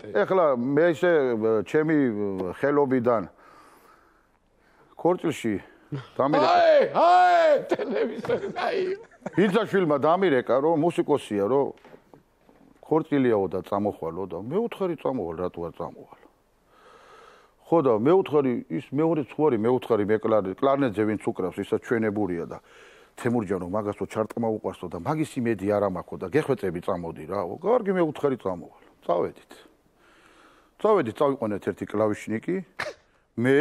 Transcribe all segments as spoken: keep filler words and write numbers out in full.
ეხლა მე ისე ჩემი ხელობიდან ქორწილში დამირეკა. აი, აი, ტელევიზორი აი. ბიძაშვილმა დამირეკა, რომ მუსიკოსია, რომ ქორწილიაო და წამოხვალო და მე უთხარი წამოვალ, რატო არ წამოვალ. ხო და მე უთხარი ის მეორე ცხვარი, მე უთხარი მე კლარნეტზე ვინც უკრავს, ისაც ჩვენებურია და თემურჯანო მაგასო ჩარტყმა უყვარსო და მაგის იმედი არ ამაქო და გეხვეწები წამოდი რა. კარგი მე უთხარი წამოვალ. წავედით. წავედით, წავიყვანეთ ერთი კლავიშნიკი, მე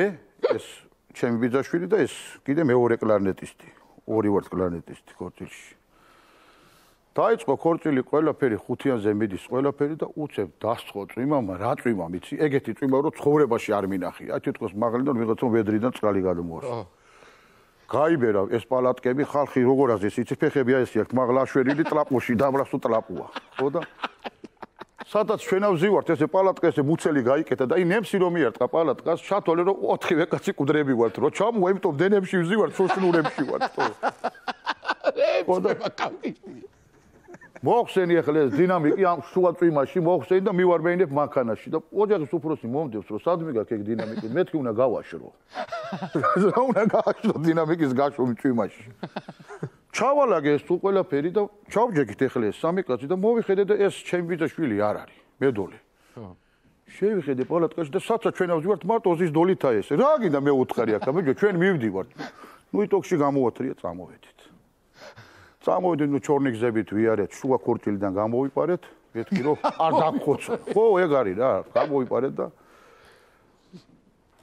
ეს ჩემი ბიძაშვილი და ეს კიდე მეორე კლარნეტისტი, ორი ვართ კლარნეტისტი ქორწილში. დაიწყო ქორწილი ყველაფერი ხუთიანზე მიდის ყველაფერი და უცებ დასწყო წვიმამა, რა წვიმა მიცი, ეგეთი წვიმა რომ ცხოვრებაში არ მინახია. აი თვითონ მაღლიდან ვიღაცა ვედრიდან წყალი გადმოასვა. გაიბერა ეს პალატკები, ხალხი როგორ აზეს, იცი ფეხები აი ესე აქვს, მაღლა აშვერილი ტრაპოში, დამრასო ტრაპუა. ხო და სადაც ჩვენა ვზივართ, ესე პალატკა ესე მუცელი გაიკეთა და აი ნემსი რომ მიარტყა პალატკას, ჩათვალე რომ ოთხივე კაცი კუდრები ვართ, რომ ჩამოვა, იმიტომ დენებში ვზივართ, სოშნურებში ვართ, ხო. ხო და კამპინგი. მოხსენი ახლა ეს დინამიკი ამ შუა წვიმაში მოხსენი და მივარმეინებ მანქანაში და ოჯახის უფროსი მომდევს რომ სადმე გაქვს ეგ დინამიკი მეთქი უნდა გავაშრო რა უნდა გავაშრო დინამიკის გაშრომი წვიმაში ჩავალაგე ეს თუ ყველაფერი და ჩავჯექით ახლა ეს სამი კაცი და მოვიხედე და ეს ჩემი ბიძაშვილი არ არის მედოლე შევიხედე პალატკაში და საცა ჩვენ ავზივართ მარტო ოზის დოლითა ეს რა გინდა მე უთხარი აქ მეჯო ჩვენ მივდივართ ნუ იტოქში გამოვათრია წამოვედით წამოვიდეთ ნუ ჩორნი გზებით ვიარეთ შუა ქორწილიდან გამოვიპარეთ მეთქი რომ არ დაგხოცო ხო ეგ არის რა გამოვიპარეთ და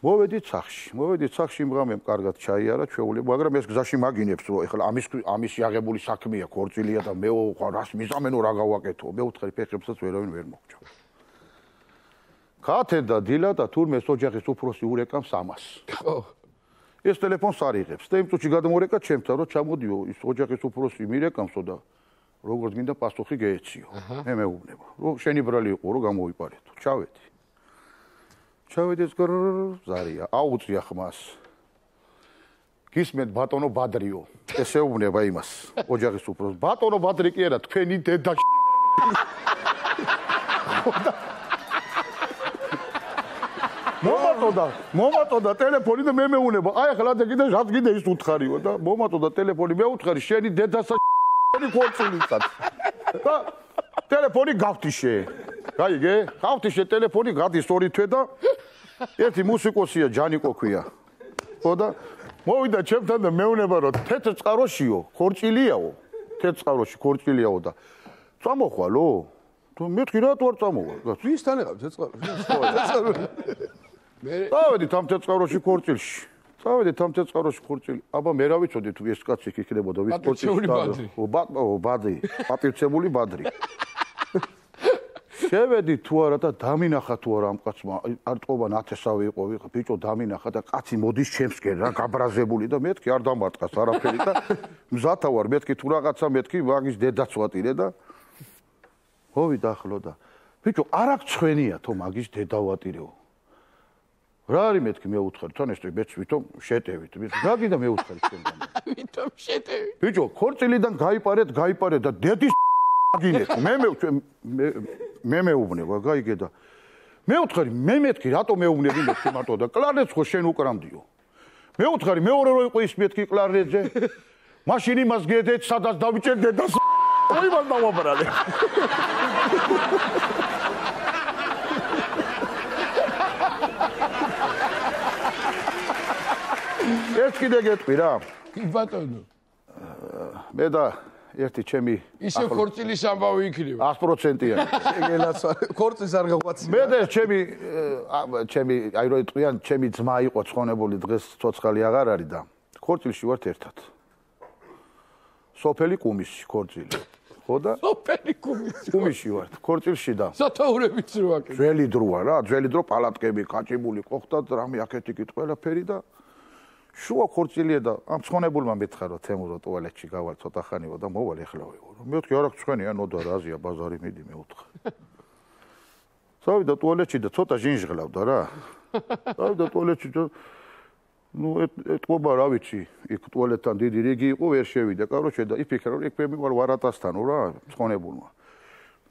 მოვედით სახში მოვედით სახში იმ ღამემ კარგად ჩაიარა ჩვეული მაგრამ ეს გზაში მაგინებს რომ ეხლა ამის ამისი აღებული საქმეა ქორწილია და მე რას მიზამენო რა გავაკეთო მე უთხარი ფეხებსაც ვერავინ ვერ მოგჭა ქათე და დილა და თურმე ოჯახის უფროსი ურეკავს ამას ხო ეს ტელეფონს არ იღებს და იმ წუთში გადმორეკა ჩემთან რომ ჩამოდიო ის ოჯახის უფროსი მირეკამსო და როგორც გინდა პასუხი გეეციო მე მეუბნება რომ შენი ბრალი იყო რომ გამოვიპარეთო ჩავედი ჩავედი ეს ზარია აუწია ხმას გისმენთ ბატონო ბადრიო ეს ეუბნება იმას ოჯახის უფროსს ბატონო ბადრი კი არა თქვენი დედა მომატოდა, მომატოდა ტელეფონი და მე მეუნება. აი ახლა და კიდე რაც კიდე ის უთხარიო და მომატოდა ტელეფონი, მე უთხარი შენი დედასა შენი ქორწილიცად. და ტელეფონი გავთიშე. გაიგე? გავთიშე ტელეფონი გადის ორი თვე და ერთი მუსიკოსია ჯანიკო ქვია. ხო და მოვიდა ჩემთან და მეუნება რომ თეთრ წყაროშიო, ქორწილიაო. თეთრ წყაროში ქორწილიაო და წამოხვალო. თუ მეთქი რატო არ წამოვალ? ვისთან ეყავ თეთრ წყაროში? მე წავედით ამ თეთრწყაროში ქორწილში. წავედით ამ თეთრწყაროში ქორწილი. აბა მე რა ვიცოდი თუ ეს კაცი იქნებოდა ვის ქორწილში. ო ბადრი, პატივცემული ბადრი. შევედი თუ არა და დამინახა თუ არა ამ კაცმა, არ ტყობა ნათესავი იყო, ვიღა ბიჭო დამინახა და კაცი მოდის ჩემსკენ რა გაბრაზებული და მეთქი არ დამარტყას არაფერი და მზათა ვარ მეთქი თუ რაღაცა მეთქი მაგის დედაც ვატირე და მოვიდა ახლო და ბიჭო არ აქ ცხენია თო მაგის დედა ვატირეო. რა არის მეთქი მე უთხარი თან ეს მეც ვითომ შეტევით რა გინდა მე უთხარი თქვენგან ვითომ შეტევით ბიჭო ქორწილიდან გაიპარეთ გაიპარეთ და დედის გინეთ მე მე მე მეუბნება გაიგე და მე უთხარი მე მეთქი რატო მეუბნები მეთქი მარტო და კლარნეტს ხო შენ უკრამდიო მე უთხარი მეორე რო იყო ის მეთქი კლარნეტზე მაშინ იმას გედეთ სადაც დავიჭერ დედას ოი მას დავაბრალე ეს კიდე გეტყვი რა ბატონო მე და ერთი ჩემი ისე ქორწილის ამბავი იქნება ათი პროცენტიანი ეგელაც ქორწილს არ გაღვაცია მე და ჩემი ჩემი აი რო იტყვიან ჩემი ძმა იყო ცხონებული დღეს ცოცხალი აღარ არის და ქორწილში ვართ ერთად სოფელი კუმისში ქორწილი ხო და სოფელი კუმისში კუმისში ვართ ქორწილში და სათაურებიც რო აკეთე ძველი დროა რა ძველი დრო პალატკები კაჭიბული ყოფდა რამე აქეთ იქით ყველაფერი და შუა ქორწილია და ამ ცხონებულმა მითხრა რომ თემურო ტუალეტში გავალ ცოტა ხანიო და მოვალ ეხლა ვიყო რომ მეთქი არ აქვს ცხენია ნოდა რაზია ბაზარი მიდი მე უთხარ წავიდა ტუალეტში და ცოტა ჟინჟღლავდა რა წავიდა ტუალეტში და ნუ ეთყობა რა ვიცი იქ ტუალეტთან დიდი რიგი იყო ვერ შევიდა კაროჩე და იფიქრა რომ იქ მე ვარ ვარატასთანო რა ცხონებულმა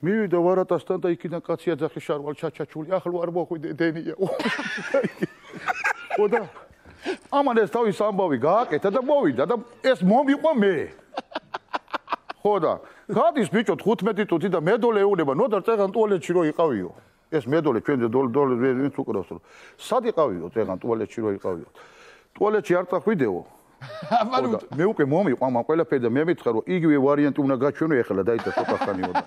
მივიდა ვარატასთან და იქიდან კაცი აძახი შარვალ ჩაჩაჩული ახლო არ მოხვიდე დენია. ხოდა ამან ეს თავის ამბავი გააკეთა და მოვიდა და ეს მომიყვა მე. ხოდა გადის ბიჭო თხუთმეტი წუთი და მედოლე ეუნება ნოდარ წეგან ტუალეტში რო იყავიო. ეს მედოლე ჩვენ დოლ დოლ ვინც უკრავს რომ სად იყავიო წეგან ტუალეტში რო იყავიო. ტუალეტში არ წახვიდეო. ხოდა მე უკვე მომიყვა ამ ყველაფერი და მე მითხრა რომ იგივე ვარიანტი უნდა გაჩვენო ეხლა დაიცა ცოტა ხანიო და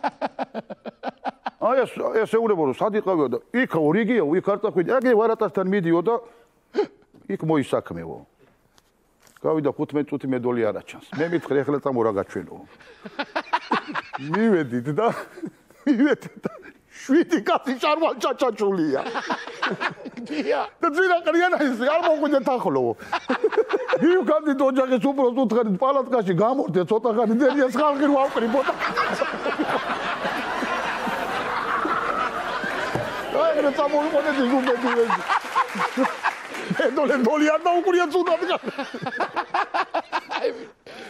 აი ეს ეს ეუბნება რომ სად იყავიო და იქ ორიგიო იქ არ წახვიდე აგე ვარატასთან მიდიო და იქ მოისაქმეო გავიდა ხუთმეტი წუთი მედოლი არ აჩანს მე მითხრა ეხლა წამო რა გაჩვენო მივედით და მივედით და შვიდი კაცი შარვალ ჩაჩაჩულია დია და ძირა ყრიანა ის არ მოგვიდეთ ახლო ვივგანდი ოჯახის უბრალოდ უთხარით პალატკაში გამორდე ცოტა ხანი დერიას ხალხი რო ავყრიბოდა აი რა წამოვიყოდეთ ის უბედი ედოლე დოლი არ დაუყურია ცუდად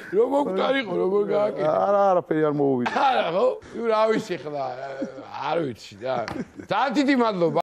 რომ მოგტარიყო რომ გააკეთე არა არაფერი არ მოუვიდა არა ხო რა ვიცი ხლა არ ვიცი და ძალიან დიდი მადლობა